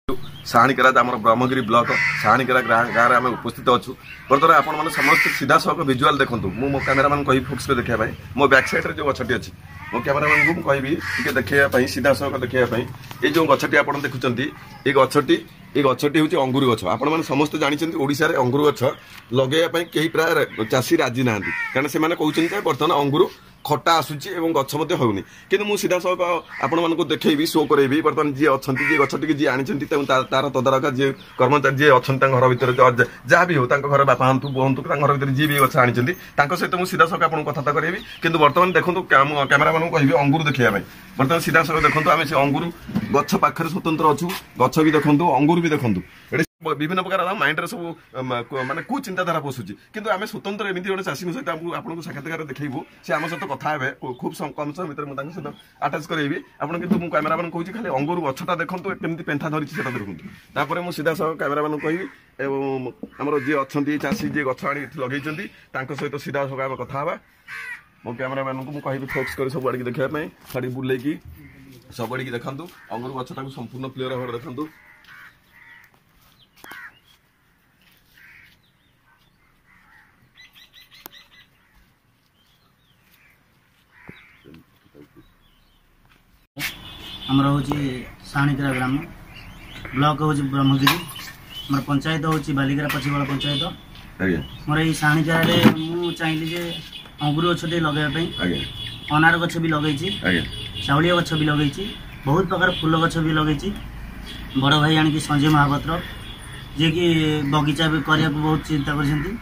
ସାହାଣୀକେରା, ଆମର ବ୍ରହ୍ମଗିରି ବ୍ଲକ ସାହାଣୀକେରା ଗାଁରେ ଆମେ ଉପସ୍ଥିତ ଅଛୁ। ବର୍ତ୍ତମାନ ଆପଣମାନେ ସମସ୍ତେ ସିଧାସଳଖ ଭିଜୁଆଲ ଦେଖନ୍ତୁ। ମୁଁ ମୋ କ୍ୟାମେରାମ୍ୟାନ୍ କହିବି ଫୋକସ୍ କରି ଦେଖିବା ପାଇଁ। ମୋ ବ୍ୟାକ୍ ସାଇଡ୍ରେ ଯେଉଁ ଗଛଟି ଅଛି, ମୋ କ୍ୟାମେରାମ୍ୟାନ୍କୁ ମୁଁ କହିବି ଟିକେ ଦେଖେଇବା ପାଇଁ, ସିଧାସଳଖ ଦେଖେଇବା ପାଇଁ। ଏଇ ଯେଉଁ ଗଛଟି ଆପଣ ଦେଖୁଛନ୍ତି, ଏଇ ଗଛଟି ହେଉଛି ଅଙ୍ଗୁର ଗଛ। ଆପଣମାନେ ସମସ୍ତେ ଜାଣିଛନ୍ତି, ଓଡ଼ିଶାରେ ଅଙ୍ଗୁର ଗଛ ଲଗେଇବା ପାଇଁ କେହି ପ୍ରାୟ ଚାଷୀ ରାଜି ନାହାନ୍ତି, କାରଣ ସେମାନେ କହୁଛନ୍ତି ଯେ ବର୍ତ୍ତମାନ ଅଙ୍ଗୁର ଖଟା ଆସୁଛି ଏବଂ ଗଛ ମଧ୍ୟ ହେଉନି। କିନ୍ତୁ ମୁଁ ସିଧାସଳଖ ଆପଣମାନଙ୍କୁ ଦେଖେଇବି, ଶୋ କରେଇବି। ବର୍ତ୍ତମାନ ଯିଏ ଅଛନ୍ତି, ଯିଏ ଗଛଟିକି ଯିଏ ଆଣିଛନ୍ତି, ତେଣୁ ତାର ତଦାରଖ ଯିଏ କର୍ମଚାରୀ ଯିଏ ଅଛନ୍ତି ତାଙ୍କ ଘର ଭିତରେ, ଯାହା ବି ହଉ, ତାଙ୍କ ଘରେ ବାପା ହୁଅନ୍ତୁ, ବୋଉ ହୁଅନ୍ତୁ, ତାଙ୍କ ଘର ଭିତରେ ଯିଏ ବି ଗଛ ଆଣିଛନ୍ତି, ତାଙ୍କ ସହିତ ମୁଁ ସିଧାସଳଖ ଆପଣଙ୍କୁ କଥାବାର୍ତ୍ତା କରେଇବି। କିନ୍ତୁ ବର୍ତ୍ତମାନ ଦେଖନ୍ତୁ, କ୍ୟାମେରାମ୍ୟାନଙ୍କୁ କହିବି ଅଙ୍ଗୁର ଦେଖିବା ପାଇଁ। ବର୍ତ୍ତମାନ ସିଧାସଳଖ ଦେଖନ୍ତୁ, ଆମେ ସେ ଅଙ୍ଗୁର ଗଛ ପାଖରେ ସ୍ୱତନ୍ତ୍ର ଅଛୁ। ଗଛ ବି ଦେଖନ୍ତୁ, ଅଙ୍ଗୁର ବି ଦେଖନ୍ତୁ। ଏଠି ବିଭିନ୍ନ ପ୍ରକାର ମାଇଣ୍ଡରେ ସବୁ ମାନେ କୁ ଚିନ୍ତାଧାରା ପଶୁଛି। କିନ୍ତୁ ଆମେ ସ୍ୱତନ୍ତ୍ର ଏମିତି ଗୋଟେ ଚାଷୀଙ୍କ ସହିତ ଆମକୁ ଆପଣଙ୍କୁ ସାକ୍ଷାତକାର ଦେଖେଇବୁ। ସେ ଆମ ସହିତ କଥା ହେବେ ଖୁବ୍ କମ ସମୟ ଭିତରେ। ମୁଁ ତାଙ୍କ ସହିତ ଆଟାଚ୍ କରେଇବି ଆପଣ। କିନ୍ତୁ ମୁଁ କ୍ୟାମେରାମ୍ୟାନ୍ କହୁଛି, ଖାଲି ଅଙ୍ଗୁର ଗଛଟା ଦେଖନ୍ତୁ, କେମିତି ପେନ୍ଥା ଧରିଛି ସେଟା ଦେଖନ୍ତୁ। ତାପରେ ମୁଁ ସିଧାସଳଖ କ୍ୟାମେରାମ୍ୟାନ୍ କହିବି ଏବଂ ଆମର ଯିଏ ଅଛନ୍ତି ଚାଷୀ, ଯିଏ ଗଛ ଆଣି ଏଠି ଲଗେଇଛନ୍ତି, ତାଙ୍କ ସହିତ ସିଧାସଳଖ ଆମେ କଥା ହେବା। ମୋ କ୍ୟାମେରାମ୍ୟାନଙ୍କୁ ମୁଁ କହିବି ଫୋକସ୍ କରି ସବୁ ଆଡ଼ିକି ଦେଖିବା ପାଇଁ, ଛାଡ଼ି ବୁଲେଇକି ସବୁ ଆଡ଼ିକି ଦେଖନ୍ତୁ। ଅଙ୍ଗୁର ଗଛଟାକୁ ସମ୍ପୂର୍ଣ୍ଣ କ୍ଲିୟର ଭାବରେ ଦେଖନ୍ତୁ। ଆମର ହେଉଛି ସାହାଣୀକେରା ଗ୍ରାମ, ବ୍ଲକ ହେଉଛି ବ୍ରହ୍ମଗିରି, ଆମର ପଞ୍ଚାୟତ ହେଉଛି ବାଲିଗରା ପଛିବଳ ପଞ୍ଚାୟତ। ମୋର ଏଇ ସାହାଣୀକେରାରେ ମୁଁ ଚାହିଁଲି ଯେ ଅଙ୍ଗୁର ଗଛଟିଏ ଲଗାଇବା ପାଇଁ। ଅନାର ଗଛ ବି ଲଗେଇଛି, ଚାଉଳିଆ ଗଛ ବି ଲଗେଇଛି, ବହୁତ ପ୍ରକାର ଫୁଲ ଗଛ ବି ଲଗେଇଛି। ବଡ଼ ଭାଇ ଆଣିକି ସଞ୍ଜୟ ମହାପାତ୍ର, ଯିଏକି ବଗିଚା ବି କରିବାକୁ ବହୁତ ଚିନ୍ତା କରିଛନ୍ତି।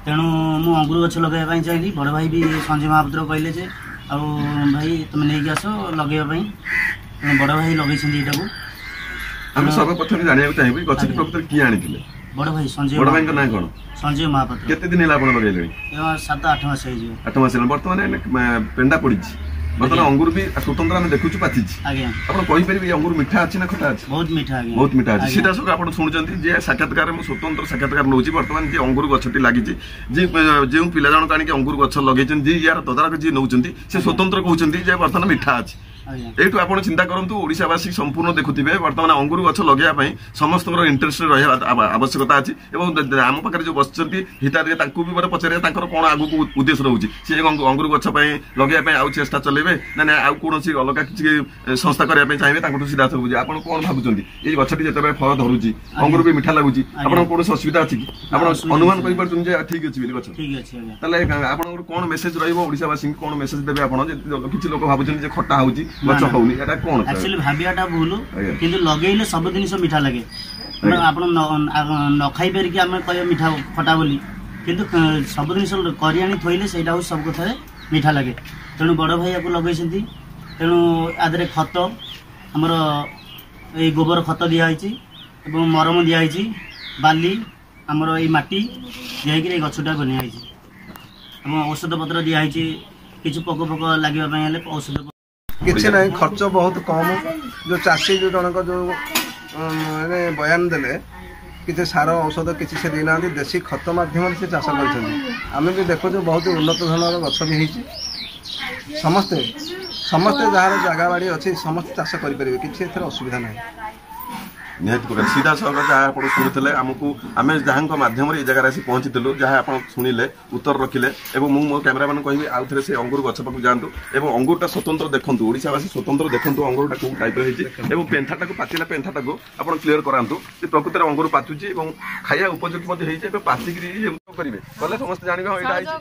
ତେଣୁ ମୁଁ ଅଙ୍ଗୁର ଗଛ ଲଗାଇବା ପାଇଁ ଚାହିଁଲି। ବଡ଼ ଭାଇ ବି ସଞ୍ଜୟ ମହାପାତ୍ର କହିଲେ ଯେ ଆଉ ଭାଇ ତୁମେ ନେଇକି ଆସ ଲଗେଇବା ପାଇଁ। ତେଣୁ ବଡ଼ ଭାଇ ଲଗେଇଛନ୍ତି ଏଇଟାକୁ। ଆମେ ସର୍ବପ୍ରଥମେ ଜାଣିବାକୁ ଚାହିଁବୁ, ଗଛଟି ପ୍ରକୃତରେ କିଏ ଆଣିଥିଲେ? ବଡ଼ ଭାଇ ସଞ୍ଜୟ। ବଡ଼ ଭାଇଙ୍କ ନାଁ କଣ? ସଞ୍ଜୟ ମହାପାତ୍ର। କେତେ ଦିନ ହେଲା ଆପଣ ଲଗେଇଲେଣି? 7-8 ମାସ ହେଇଯିବ। 8 ମାସ ହେଲା। ବର୍ତ୍ତମାନ ପେଣ୍ଡା ପଡିଛି, ବର୍ତ୍ତମାନ ଅଙ୍ଗୁର ବି ସ୍ୱତନ୍ତ୍ର ଆମେ ଦେଖୁଛୁ ପାଚିଛି। ଆପଣ କହିପାରିବେ ଏଇ ଅଙ୍ଗୁର ମିଠା ଅଛି ନା ଖଟା ଅଛି? ବହୁତ ମିଠା ଆଜ୍ଞା। ବହୁତ ମିଠା ଅଛି। ସିଧାସଳଖ ଆପଣ ଶୁଣୁଛନ୍ତି ଯେ ସାକ୍ଷାତକାର, ମୁଁ ସ୍ୱତନ୍ତ୍ର ସାକ୍ଷାତକାର ନେଉଛି। ବର୍ତ୍ତମାନ ଯେ ଅଙ୍ଗୁର ଗଛଟି ଲାଗିଛି, ଯେ ଯେଉଁ ପିଲା ଜଣକ ଆଣିକି ଅଙ୍ଗୁର ଗଛ ଲଗେଇଛନ୍ତି, ଯିଏ ୟାର ତଦାରଖ ଯିଏ ନେଉଛନ୍ତି, ସେ ସ୍ୱତନ୍ତ୍ର କହୁଛନ୍ତି ଯେ ବର୍ତ୍ତମାନ ମିଠା ଅଛି। ଏଇଠୁ ଆପଣ ଚିନ୍ତା କରନ୍ତୁ, ଓଡ଼ିଶାବାସୀ ସମ୍ପୂର୍ଣ୍ଣ ଦେଖୁଥିବେ, ବର୍ତ୍ତମାନ ଅଙ୍ଗୁର ଗଛ ଲଗେଇବା ପାଇଁ ସମସ୍ତଙ୍କର ଇଣ୍ଟରେଷ୍ଟ ରହିବା ଆବଶ୍ୟକତା ଅଛି। ଏବଂ ଆମ ପାଖରେ ଯୋଉ ବସିଛନ୍ତି ହିତାଧିକାରୀ, ତାଙ୍କୁ ବି ଗୋଟେ ପଚାରିବା ତାଙ୍କର କଣ ଆଗକୁ ଉଦ୍ଦେଶ୍ୟ ରହୁଛି। ସେ ଅଙ୍ଗୁର ଗଛ ପାଇଁ ଲଗେଇବା ପାଇଁ ଆଉ ଚେଷ୍ଟା ଚଲେଇବେ ନା ନା ଆଉ କୌଣସି ଅଲଗା କିଛି ସଂସ୍ଥା କରିବା ପାଇଁ ଚାହିଁବେ? ତାଙ୍କଠୁ ସିଧାସଳଖ ବୁଝିବେ। ଆପଣ କଣ ଭାବୁଛନ୍ତି, ଏଇ ଗଛଟି ଯେତେବେଳେ ଫଳ ଧରୁଛି, ଅଙ୍ଗୁର ବି ମିଠା ଲାଗୁଛି, ଆପଣଙ୍କ କୌଣସି ଅସୁବିଧା ଅଛି କି? ଆପଣ ଅନୁମାନ କରିପାରୁଛନ୍ତି ଯେ ଠିକ ଅଛି ବୋଲି ଗଛ? ଠିକ ଅଛି ଆଜ୍ଞା। ତାହେଲେ ଆପଣଙ୍କର କଣ ମେସେଜ ରହିବ ଓଡ଼ିଶାବାସୀଙ୍କୁ? କଣ ମେସେଜ ଦେବେ ଆପଣ ଯେ କିଛି ଲୋକ ଭାବୁଛନ୍ତି ଯେ ଖଟା ହଉଛି, ଗଛ ହଉନି, ଏଟା କଣ? ଆକ୍ଚୁଆଲି ଭାବିବାଟା ଭୁଲ, କିନ୍ତୁ ଲଗେଇଲେ ସବୁ ଜିନିଷ ମିଠା ଲାଗେ। ଆପଣ ନ ଖାଇ ପାରିକି ଆମେ କହିବା ମିଠା ଖଟା ବୋଲି, କିନ୍ତୁ ସବୁ ଜିନିଷ କରି ଆଣି ଥୋଇଲେ ସେଇଟା ହେଉଛି ସବୁ କଥାରେ ମିଠା ଲାଗେ। ତେଣୁ ବଡ଼ ଭାଇ ୟାକୁ ଲଗେଇଛନ୍ତି। ତେଣୁ ଆ ଦେହରେ ଖତ ଆମର ଏଇ ଗୋବର ଖତ ଦିଆହେଇଛି ଏବଂ ମରମ ଦିଆହେଇଛି, ବାଲି ଆମର ଏଇ ମାଟି ଦିଆହେଇକିରି ଏଇ ଗଛଟା ବନିଆ ହେଇଛି ଏବଂ ଔଷଧ ପତ୍ର ଦିଆହେଇଛି। କିଛି ପୋକ ଫୋକ ଲାଗିବା ପାଇଁ ହେଲେ ଔଷଧ। କିଛି ନାହିଁ, ଖର୍ଚ୍ଚ ବହୁତ କମ। ଯେଉଁ ଚାଷୀ ଯେଉଁ ଜଣଙ୍କ ଯେଉଁ ମାନେ ବୟାନ ଦେଲେ, କିଛି ସାର ଔଷଧ କିଛି ସେ ଦେଇନାହାନ୍ତି, ଦେଶୀ ଖତ ମାଧ୍ୟମରେ ସେ ଚାଷ କରିଛନ୍ତି। ଆମେ ବି ଦେଖୁଛୁ ବହୁତ ଉନ୍ନତ ଧରଣର ଗଛ ବି ହେଇଛି। ସମସ୍ତେ ସମସ୍ତେ ଯାହାର ଜାଗା ବାଡ଼ି ଅଛି, ସମସ୍ତେ ଚାଷ କରିପାରିବେ, କିଛି ଏଥିରେ ଅସୁବିଧା ନାହିଁ। ନିହାତି ପ୍ରକାର ସିଧାସଳଖ ଯାହା ଆପଣ ଶୁଣୁଥିଲେ ଆମକୁ, ଆମେ ଯାହାଙ୍କ ମାଧ୍ୟମରେ ଏଇ ଜାଗାରେ ଆସି ପହଞ୍ଚିଥିଲୁ, ଯାହା ଆପଣ ଶୁଣିଲେ, ଉତ୍ତର ରଖିଲେ। ଏବଂ ମୁଁ ମୋ କ୍ୟାମେରାମ୍ୟାନ୍ କହିବି ଆଉ ଥରେ ସେ ଅଙ୍ଗୁର ଗଛ ପାଖକୁ ଯାଆନ୍ତୁ ଏବଂ ଅଙ୍ଗୁରଟା ସ୍ୱତନ୍ତ୍ର ଦେଖନ୍ତୁ। ଓଡ଼ିଶାବାସୀ ସ୍ୱତନ୍ତ୍ର ଦେଖନ୍ତୁ ଅଙ୍ଗୁରଟା କୋଉ ଟାଇପ୍ର ହେଇଛି ଏବଂ ପେନ୍ଥାଟାକୁ, ପାଚିଲା ପେନ୍ଥାଟାକୁ ଆପଣ କ୍ଲିୟର କରାନ୍ତୁ ଯେ ପ୍ରକୃତରେ ଅଙ୍ଗୁର ପାଚୁଛି ଏବଂ ଖାଇବା ଉପଯୋଗୀ ମଧ୍ୟ ହେଇଛି। ଏବେ ପାଚିକିରି କରିବେ କଲେ ସମସ୍ତେ ଜାଣିବେ, ହଁ ଏଇଟା ହେଇଛି।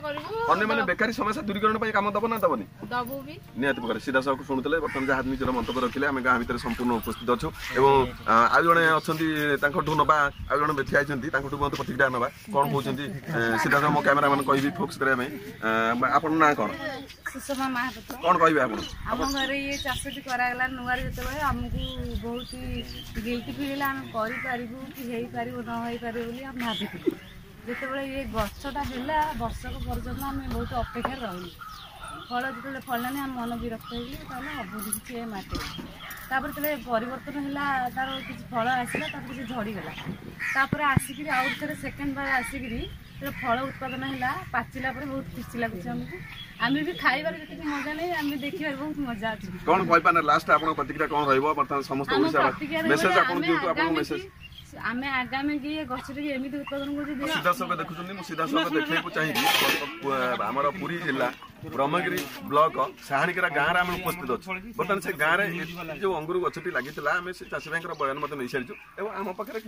ଅନ୍ୟମାନେ ବେକାରୀ ସମସ୍ୟା ଦୂରୀକରଣ ପାଇଁ କାମ ଦବ ନା ଦବନି? ନିହାତି ପ୍ରକାର ସିଧାସଳଖ ଶୁଣୁଥିଲେ, ବର୍ତ୍ତମାନ ଯାହା ନିଜର ମନ୍ତବ୍ୟ ରଖିଲେ। ଆମେ ଗାଁ ଭିତରେ ସମ୍ପୂର୍ଣ୍ଣ ଉପସ୍ଥିତ ଅଛୁ ଏବଂ ଆଉ ଜଣେ ଅଛନ୍ତି, ତାଙ୍କଠୁ ନବା। ଆଉ ଜଣେ ଠିଆ ହେଇଛନ୍ତି, ତାଙ୍କଠୁ ମଧ୍ୟ ପ୍ରତିକ୍ରିୟା ନବା, କଣ କହୁଛନ୍ତି ସିଧାସଳଖ। ମୋ କ୍ୟାମେରାମ୍ୟାନ୍ କହିବି ଫୋକସ୍ କରିବା ପାଇଁ। ଆପଣଙ୍କ ନାଁ କଣ? ସୁଷମା ମହାପାତ୍ର। କଣ କହିବେ ଆପଣ? ଆମ ଘରେ ଇଏ ଚାଷଟି କରାଗଲା ନୂଆରେ ଯେତେବେଳେ, ଆମକୁ ବହୁତ ଗିଲ୍ଟି ଫିଲ୍ ହେଲା, ଆମେ କରିପାରିବୁ କି ହେଇପାରିବ ନ ହେଇପାରିବ ବୋଲି ଆମେ ଭାବିଥିଲୁ। ଯେତେବେଳେ ଇଏ ଗଛଟା ହେଲା, ବର୍ଷକ ପର୍ଯ୍ୟନ୍ତ ଆମେ ବହୁତ ଅପେକ୍ଷାରେ ରହିଲୁ। ଫଳ ଯେତେବେଳେ ଫଳିଲାନି ଆମ ମନ ବିରକ୍ତ ହେଇଗଲି, ତାହେଲେ ହବନି କିଛି ଏ ମାଟିରେ। ତାପରେ ଯେତେବେଳେ ପରିବର୍ତ୍ତନ ହେଲା, ତାର କିଛି ଫଳ ଆସିଲା, ତାପରେ ସେ ଝଡ଼ିଗଲା। ତାପରେ ଆସିକିରି ଆଉ ଥରେ ସେକେଣ୍ଡ ବାର ଆସିକିରି ଯେତେବେଳେ ଫଳ ଉତ୍ପାଦନ ହେଲା, ପାଚିଲା ପରେ ବହୁତ ଖୁସି ଲାଗୁଛି ଆମକୁ। ଆମେ ବି ଖାଇବାରେ ଯେତିକି ମଜା ନାହିଁ, ଆମେ ଦେଖିବାରେ ବହୁତ ମଜା ଅଛି। କଣ କହିପାରେ ଲାଷ୍ଟ ଆପଣଙ୍କ ପ୍ରତିକ୍ରିୟା କଣ ରହିବ ବର୍ତ୍ତମାନ ସମସ୍ତ ଆମ ଓଡ଼ିଶା ପ୍ରତିକ୍ରିୟା ରହିବ ମେସେଜ ଯେ ଆପଣ ଆମେ ଦିଅନ୍ତୁ, ଆପଣଙ୍କ ଆଗାମୀ ମେସେଜ। ଆମେ ଆଗାମୀ କି ଏ ଗଛଟିକି ଏମିତି ଉତ୍ପାଦନ କରୁଛୁ ଯେ ସିଧାସଳଖ ଦେଖୁଛନ୍ତି, ମୁଁ ସିଧାସଳଖ ଦେଖିବାକୁ ଚାହିଁବି, ଆମର ପୁରୀ ଜିଲ୍ଲା ବ୍ରହ୍ମଗିରି ବ୍ଲକ ସାହାଣିକେରା ଗାଁରେ ଆମେ ଉପସ୍ଥିତ ଅଛୁ। ବର୍ତ୍ତମାନ ସେ ଗାଁରେ ଯୋଉ ଅଙ୍ଗୁର ଗଛଟି ଲାଗିଥିଲା, ଆମେ ସେ ଚାଷୀ ଭାଇଙ୍କର ବୟାନ ମଧ୍ୟ ନେଇସାରିଛୁ ଏବଂ ଆମ ପାଖରେ